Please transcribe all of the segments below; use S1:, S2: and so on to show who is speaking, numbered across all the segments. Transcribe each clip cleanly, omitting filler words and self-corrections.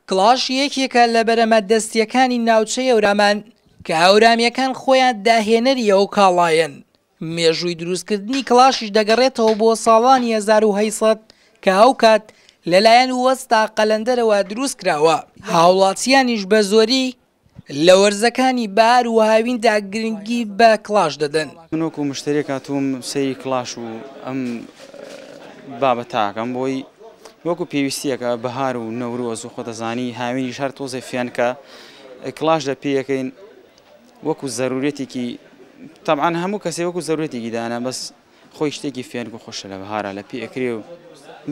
S1: کڵاش یەکێکە لە بەرەمە دەستییەکانی ناوچەی هەورامان کە هەورامییەکان خۆیان داهێنەری ئەو کاڵایەن، مێژووی دروستکردنی کڵاشیش دەگەڕێتەوە بۆ ساڵانی 1800 کە ئەوکات لەلایەن وەستا قەلەندەرەوە دروستکراوە، هاوڵاتییانیش بە زۆری لە وەرزەکانی بەهار و هاویندا گرنگی بە کڵاش دەدەن.
S2: من وەکو مشتەریەک هاتووم سەیری کڵاش و ئەم بابەتە ئەکەم بۆی وەکو پێویستیەکە بەهار و نەورۆز و خۆتەزانی هاوینیش هەر تۆزێ فێنکە کڵاش لە پێیەکەین وەکو زەرورەتێکی تەبعەن هەموو کەسێ وەکو زەرورەتێکی دانا بەس خۆی شتێکی فێنک و خۆشە لە بەهارا لە پێ ئەکرێ و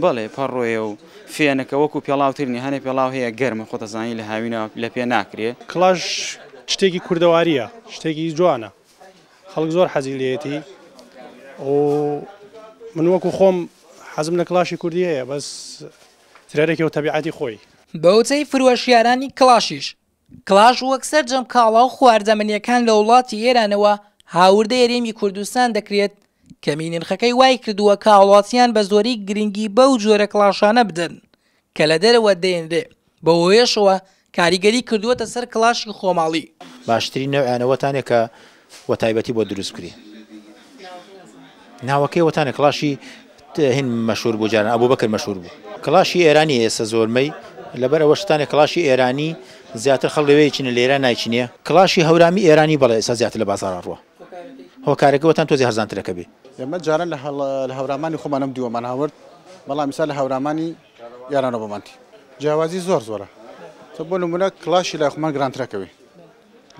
S2: بەڵێ پەڕۆیە و فێنکە وەکو پێڵاو تر نیە هەنێ پێڵاو هەیە گەرمە خۆت ئەزانی لە هاوینا لە پێ ناکرێ.
S3: کڵاش شتێکی کوردەواریە شتێکی جوانە خەڵک زۆر حەزی لێیەتی و من وەکو خۆم حەزم لە کڵاشی کوردی هەیە بەس ترەرێکی و تەبیعەتی خۆی.
S1: بەوتەی فرۆشیارانی کڵاشیش کڵاش وەک سەرجەم کاڵا و خواردەمەنییەکان لە وڵاتی ئێرانەوە هاوردەی هەرێمی کوردستان دەکرێت، کەمی نرخەکەی وایکردووە کە هاوڵاتیان بە زۆری گرنگی بەو جۆرە کڵاشانە بدەن کە لە دەرەوە دەێنرێ، بەوهۆیەشەوە کاریگەری کردووەتە سەر کڵاشی خۆماڵی.
S4: باشترین نەوعیان ئەوەتانە کە وە تایبەتی بۆ دروست بکری ناوەکەی وەتانە کڵاشی هین مەشهور بوو جاران ئەبوبەکر مەشهور بوو کڵاشی ئێرانی ئێستا زۆرمەی لەبەر ئەوە شتانێ کڵاشی ئێرانی زیاتر خەڵک لەوێ چینە لە ئێران نایچینێ کڵاشی هەورامی ئێرانی بەڵێ ئێستا زیاتر لە بازاڕا ڕوە هۆکارەکە وەتان تۆزێ هەرزانترەکە بێ.
S5: ئێمە جاران لە هەورامانی خۆمان ئەم دیوەمان هاورد بەڵام ئیستا لە هەورامانی ئێرانەوە بۆمان تی جیاوازی زۆر زۆرە بۆ نمونە کڵاشی لای خۆمان گرانترەکەوێ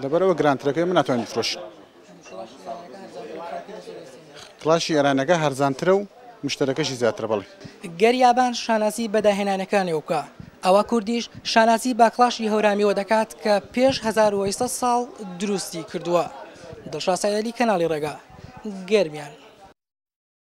S5: لەبەرئەوە گرانترەکەی ئێمە ناتوانین بفرۆشین. کڵاشی ئێرانەکە هەرزانترە و مشتەرەکەشی زیاترە بەڵێ.
S1: گەر یابان شانازی بە داهێنانەکانیەوە بکا، ئەوا کوردیش شانازی بە کڵاشی هەورامیەوە دەکات کە پێش 1800 ساڵ دروستی کردووە. دڵشاد سەیدعەلی کەناڵی ڕێگا، گەرمیان.